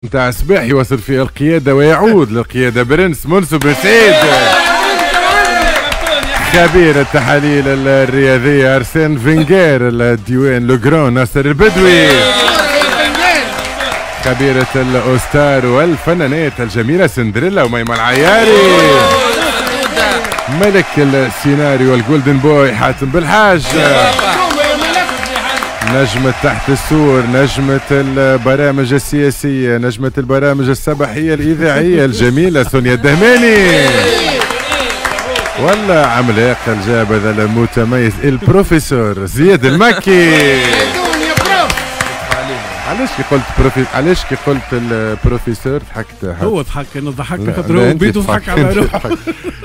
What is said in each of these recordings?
نتاع الصباح يواصل في القيادة ويعود للقيادة برنس منصف بن سعيد، خبير التحاليل الرياضية أرسين فينجير، الديوان le grand ناصر البدوي، خبيرة الأوستار والفنانات الجميلة سندريلا وميمة العياري، ملك السيناريو ال golden boy حاتم بالحاج، نجمة تحت السور، نجمة البرامج السياسية، نجمة البرامج الصباحية الإذاعية الجميلة سونيا الدهماني، ولا عملاق الجابذة المتميز البروفيسور زياد المكي. علاش كي قلت علاش كي قلت البروفيسور ضحكت؟ هو ضحك، انا ضحكت خاطر هو بيدو ضحك على روحه.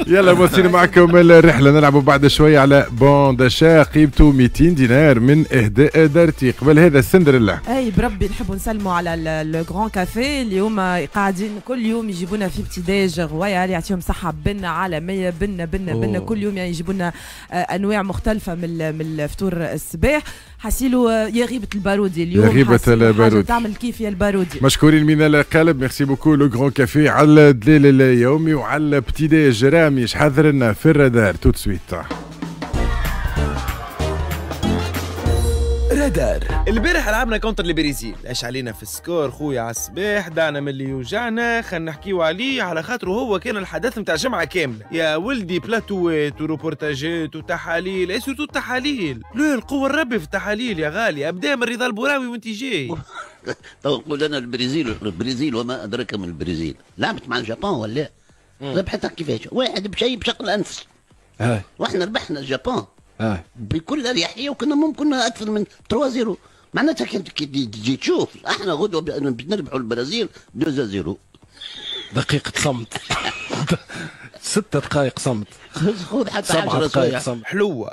يلا مواصلين معكم الرحلة، نلعبوا بعد شوية على bon d'achat قيمته 200 دينار من اهداء دارتي. قبل هذا سندريلا، اي بربي نحبوا نسلموا على Le Grand Café اللي هما قاعدين كل يوم يجيبونا في petit déj royal، يعطيهم صحة بنه عالمية، بنه بنه بنه كل يوم، يعني يجيبونا انواع مختلفة من الفطور الصباح. حسيلو يا غيبه البارودي اليوم، يا غيبه البارودي تعمل كيف يا البارودي. مشكورين من القلب، merci beaucoup Le Grand Café على الدليل اليومي وعلى petit déj. رامي حذر لنا في الرادار tout de suite. رادار البارح لعبنا contre البرازيل، اش علينا في ال score خويا على الصباح، دعنا من اللي يوجعنا، خلينا نحكيو عليه على خاطره هو كان الحدث نتاع جمعه كاملة. يا ولدي بلاتوات وروبورتاجات وتحاليل، et surtout التحاليل، لا القوة الربي في التحاليل يا غالي، ابدا من رضا البراوي وانت جاي. تو نقول انا البرازيل، البرازيل وما ادراك من البرازيل، لعبت مع اليابان ولا ربحتها كيفاش؟ واحد بشيء بشق الانفس. واحنا ربحنا اليابان بكل اريحية وكنا ممكن اكثر من 3-0، معناتها كي تجي تشوف احنا غدوه نربحوا البرازيل 2-0. دقيقة صمت. 6 دقائق صمت، خذ حتى 10 دقائق صمت. حلوة،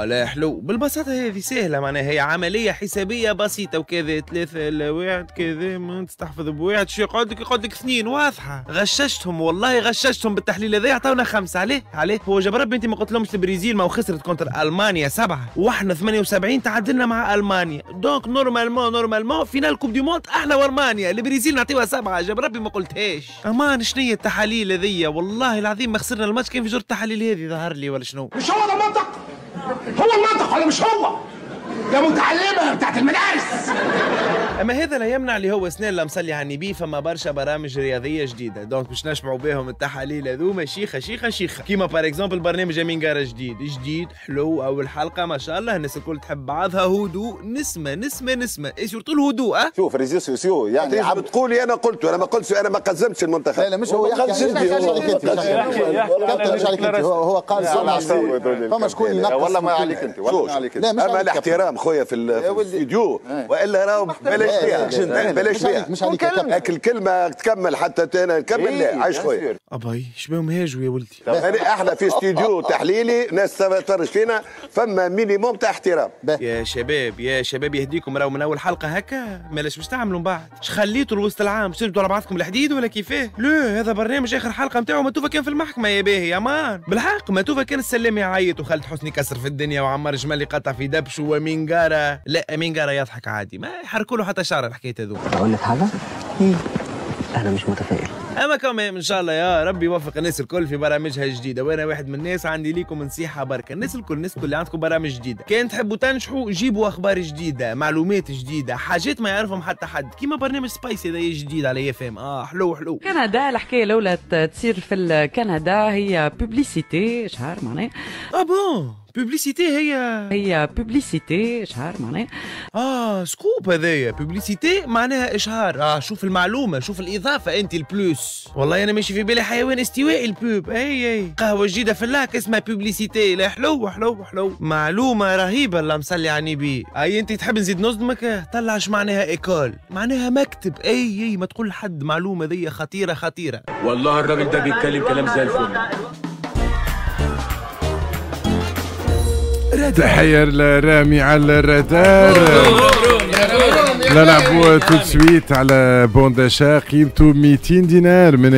لا حلو بالبساطة هذه سهلة، معناها هي عملية حسابية بسيطة وكذا 3 ل 1 كذا ما تستحفظ بواحد شو يقعد لك؟ يقعد لك 2. واضحة، غششتهم والله غششتهم بالتحليل هذا، عطاونا 5. عليه عليه هو جاب ربي انت ما قلت لهمش البرازيل ما خسرت contre المانيا 7 واحنا 78 تعادلنا مع المانيا، donc normalement finale coupe du monde احنا والمانيا، البرازيل نعطيوها 7، جاب ربي ما قلتهاش. امان شنية التحاليل هذيا؟ والله العظيم ما خسرنا الماتش كان في جرة التحاليل هذه ظهر لي ولا شنو؟ مش هو ده المنطق؟ هو المنطق ولا مش هو؟ يا متعلمة بتاعت المدارس. اما هذا لا يمنع اللي هو سنين لا مصلي على النبي، فما برشا برامج رياضية جديدة، donc باش نشبعوا بهم التحاليل هذوما شيخه شيخه شيخه، كيما par exemple برنامج امين قارة جديد، جديد حلو، اول حلقة ما شاء الله الناس الكل تحب بعضها، هدوء، نسمه نسمه نسمه، et surtout الهدوء. شوف réseaux sociaux يعني عم تقولي انا قلت، انا ما قلتش، انا ما قزمتش المنتخب. لا لا مش هو يحكي عليك انت، هو قال فما شكون ينقص. والله ما عليك انت، والله ما عليك انت، اما الاحترام خويا في الاستوديو والا راهو بلاش فيها، بلاش فيها، مش عليك اكل كلمة تكمل حتى انا نكمل. لا عايش خويا ابي شبيهم هاجوا يا ولدي. احنا في استوديو تحليلي ناس تفرج فينا، فما minimum تاع احترام. يا شباب يا شباب يهديكم، راهو من اول حلقة هكا مالاش باش تعملوا من بعد؟ اش خليتوا الوسط العام شربتوا على بعضكم الحديد ولا كيفاه؟ لا هذا برنامج اخر حلقة نتاعو ما توفى كان في المحكمة يا باهي يا مان، بالحق ما توفى كان السلام يعيط وخالد حسني كسر في الدنيا وعمار جمال يقطع في دبش وامين قارة، لا امين قارة يضحك عادي ما يحركوا له حتى شعره الحكاية هذوك. اقول لك حاجة؟ انا مش متفائل. اما كمان ان شاء الله يا ربي يوفق الناس الكل في برامجها الجديدة، وانا واحد من الناس عندي ليكم نصيحة بركة، الناس الكل الناس الكل اللي عندكم برامج جديدة، كان تحبوا تنجحوا جيبوا اخبار جديدة، معلومات جديدة، حاجات ما يعرفهم حتى حد، كيما برنامج سبايسي هذا جديد على IFM، حلو حلو. كندا الحكاية الاولى تصير في كندا هي publicité شهر معناها. Bon publicité هي publicité شهر معناها. Scoop هذايا publicité معناها اشهار. شوف المعلومة، شوف الاضافة انت ال plus. والله انا ماشي في بالي حيوان استوائي ال pub. اي قهوة جديدة في اللاك اسمها publicité. لا حلو حلو حلو، معلومة رهيبة اللي مصلي على النبي. اي انت تحب نزيد نصدمك؟ طلع اش معناها école، معناها مكتب. اي ما تقول لحد، معلومة ذي خطيرة خطيرة. والله الراجل ده بيتكلم كلام زي الفل. تحية لرامي على الرادار. نلعبوا tout de suite على bon d'achat قيمته 200 دينار من